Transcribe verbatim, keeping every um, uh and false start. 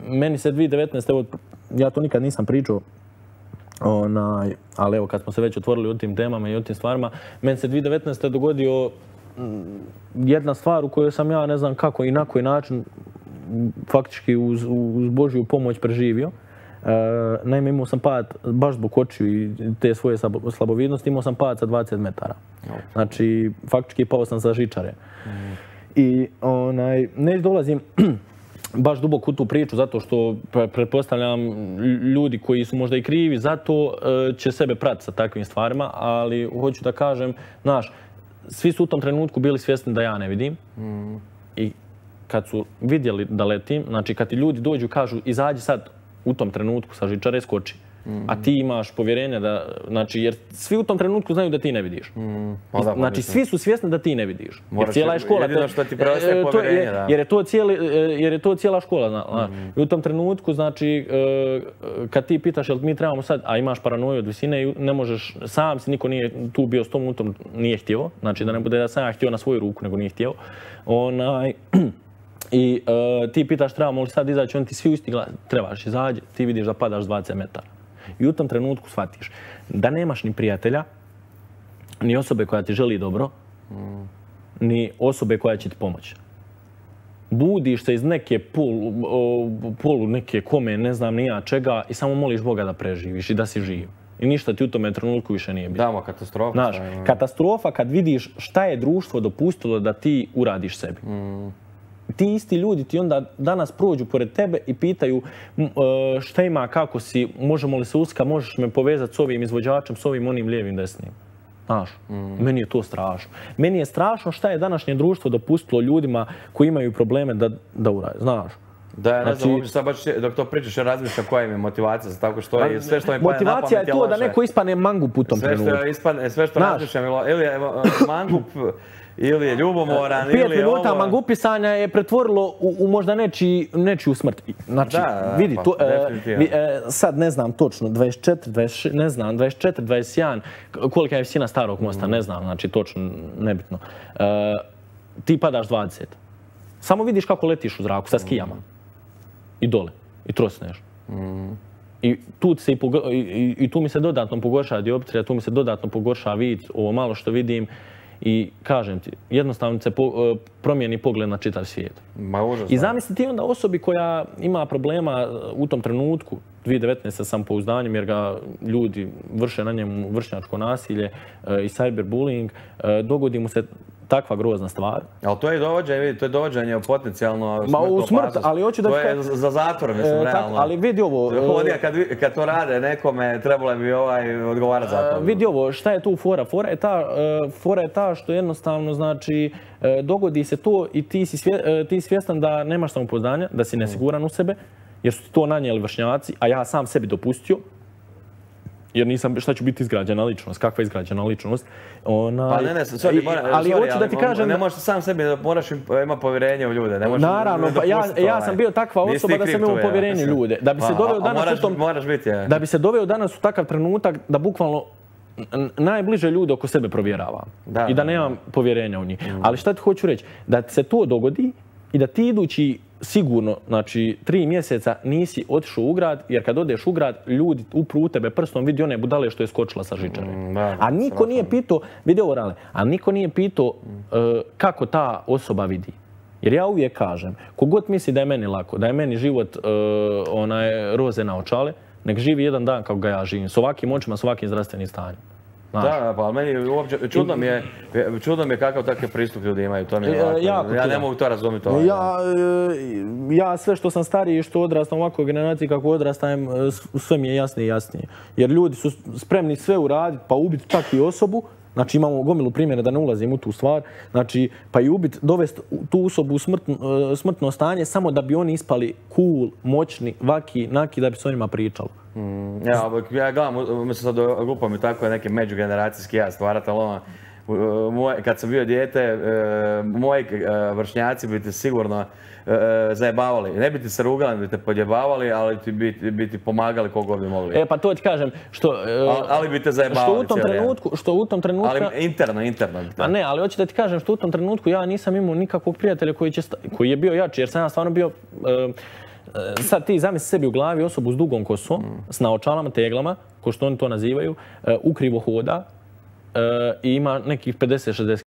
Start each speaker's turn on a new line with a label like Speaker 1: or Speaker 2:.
Speaker 1: Meni se dvije tisuće devetnaeste. evo, ja to nikad nisam pričao, onaj, ali evo kad smo se već otvorili o tim temama i o tim stvarima, meni se dvije tisuće devetnaeste. dogodio jedna stvar u kojoj sam ja ne znam kako i na koji način faktički uz, uz Božju pomoć preživio. E, naime, imao sam pad baš zbog očiju i te svoje slabovidnosti, imao sam pad sa dvadeset metara. Znači, faktički pao sam sa žičare. Mm. I onaj, ne dolazim baš duboko u tu priču zato što pretpostavljam ljudi koji su možda i krivi zato će sebe pratiti sa takvim stvarima, ali hoću da kažem, znaš, svi su u tom trenutku bili svjesni da ja ne vidim. Mm. I kad su vidjeli da letim, znači kad ti ljudi dođu i kažu izađi sad u tom trenutku sa žičare, skoči. Mm. A ti imaš povjerenje da, znači, jer svi u tom trenutku znaju da ti ne vidiš. Mm. Pa da, znači, svi su svjesni da ti ne vidiš.
Speaker 2: Moraš, cijela je škola. Jedino što ti preostaje povjerenje,
Speaker 1: je,
Speaker 2: da.
Speaker 1: Jer je to, cijeli, jer je to cijela škola, znaš. Mm. I u tom trenutku, znači, kad ti pitaš jel mi trebamo sad, a imaš paranoju od visine i ne možeš, sam si, niko nije tu bio s tom utom, nije htio. Znači, da ne bude da sam ja htio na svoju ruku, nego nije htio. Onaj... I uh, ti pitaš trebamo li sad izaći, oni ti svi u isti glas, trebaš izađi, ti vidiš da padaš dvadeset metara. I u tom trenutku shvatiš da nemaš ni prijatelja, ni osobe koja ti želi dobro, mm. ni osobe koja će ti pomoći. Budiš se iz neke polu, polu neke kome, ne znam ni ja čega, i samo moliš Boga da preživiš i da si živ. I ništa ti u tome trenutku više nije bilo.
Speaker 2: Damo, katastrofa.
Speaker 1: Znaš, katastrofa kad vidiš šta je društvo dopustilo da ti uradiš sebi. Mm. Ti isti ljudi ti onda danas prođu pored tebe i pitaju šta ima, kako si, možemo li se uska, možeš me povezati s ovim izvođačem, s ovim onim lijevim desnim. Znaš, mm. meni je to strašno. Meni je strašno šta je današnje društvo dopustilo ljudima koji imaju probleme da, da urade, znaš.
Speaker 2: Da, ja ne znam, uopće sad baš dok to pričaš, ja razmišljam koja im je motivacija za tako što je, sve što mi pane na pamet je loše.
Speaker 1: Motivacija je to da neko ispane mangup u tom trenutku.
Speaker 2: Sve što razmišljam, ili je mangup, ili je ljubomoran, ili je ovo...
Speaker 1: Pet minuta mangupisanja je pretvorilo u, u možda nečiji, nečiju smrt. Znači,
Speaker 2: da,
Speaker 1: vidi,
Speaker 2: pa,
Speaker 1: to, e, e, sad ne znam točno, dvadeset četiri, dvadeset šest, ne znam, dvadeset četiri, dvadeset jedan, kolika je visina starog mosta, mm. ne znam, znači točno, nebitno. E, ti padaš dvadeset. Samo vidiš kako letiš u zraku sa skijama. Mm. I dole. I trosneš. Mm. I tu, se i, i, i tu mi se dodatno pogorša dioptrija, tu mi se dodatno pogorša vid, ovo malo što vidim. I kažem ti, jednostavno se po, promijeni pogled na čitav svijet.
Speaker 2: Ma, užasno.
Speaker 1: I zamisli ti onda osobi koja ima problema u tom trenutku, dvije tisuće devetnaeste. samopouzdanjem, jer ga ljudi vrše na njemu vršnjačko nasilje i cyberbullying, dogodi mu se takva grozna stvar.
Speaker 2: Ali to je dovođenje, vidi, to je dovođenje u potencijalno
Speaker 1: smrtnu opasnost. Smrt, ali hoću da...
Speaker 2: To je za zatvor, mislim, e, realno.
Speaker 1: Ali vidi ovo...
Speaker 2: Ovdje, kad, kad to rade nekome, trebalo bi ovaj odgovarati za to.
Speaker 1: Vidi ovo, šta je tu fora? Fora je ta, fora je ta što jednostavno, znači, dogodi se to i ti si, svje, ti si svjestan da nemaš samopouzdanja, da si nesiguran u sebe, jer su ti to nanijeli vršnjaci, a ja sam sebi dopustio. Jer nisam, šta ću biti izgrađena ličnost, kakva je izgrađena ličnost. Ona,
Speaker 2: pa ne, ne, sorry, I, mora,
Speaker 1: ali
Speaker 2: sorry,
Speaker 1: hoću da ti kažem...
Speaker 2: Ne možeš sam sebi, moraš ima povjerenje u ljude. Ne možeš,
Speaker 1: naravno, pa ja, ja sam bio takva osoba da sam imao povjerenje u ljude. Da bi se doveo danas
Speaker 2: moraš,
Speaker 1: u tom...
Speaker 2: Moraš biti, ja.
Speaker 1: Da bi se doveo danas u takav trenutak da bukvalno najbliže ljude oko sebe provjeravam. Da, I da nemam da. povjerenja u njih. Mm. Ali šta ti hoću reći? Da se to dogodi i da ti idući sigurno, znači, tri mjeseca nisi otišao u grad, jer kad odeš u grad, ljudi upru u tebe prstom, vidi one budale što je skočila sa žičare. Mm, da, a niko strašno. nije pitao, vidi ovo rale, a niko nije pitao uh, kako ta osoba vidi. Jer ja uvijek kažem, kogod misli da je meni lako, da je meni život uh, onaj, roze na očale, nek živi jedan dan kako ga ja živim, s ovakim očima, s ovakim zdravstvenim stanjem.
Speaker 2: Znaš. Da, pa meni uopće, čudno mi je, čudno mi je kakav takav pristup ljudi imaju, to mi je ovako. Jako ja ne mogu to razumjeti. Ovaj.
Speaker 1: Ja, ja sve što sam stariji i što odrastam u ovakvoj generaciji, kako odrastam, sve mi je jasnije i jasnije. Jer ljudi su spremni sve uraditi, pa ubiti čak i osobu. Znači imamo gomilu primjera da ne ulazim u tu stvar. Znači, pa i ubiti, dovesti tu osobu u smrtno, smrtno stanje samo da bi oni ispali cool, moćni, vaki, naki, da bi se o njima pričalo.
Speaker 2: Mm, ja, ja gledam, mislim sad glupo mi tako neke međugeneracijski ja stvarati, ali ono, kad sam bio dijete, moji vršnjaci bi te sigurno zajebavali. Ne bi ti se rugali, ne bi te podjebavali, ali bi ti pomagali koliko bi mogli.
Speaker 1: E pa to ti kažem, što...
Speaker 2: Ali bi te zajebavali cijeli dan.
Speaker 1: Što u tom trenutku...
Speaker 2: Ali interno, interno.
Speaker 1: A ne, ali hoću da ti kažem što u tom trenutku ja nisam imao nikakvog prijatelja koji je bio jači, jer sam ja stvarno bio... Sad ti zamisli sebi u glavi osobu s dugom kosom, s naočalama, teglama, ko što oni to nazivaju, ukrivo hoda i ima nekih pedeset šezdeset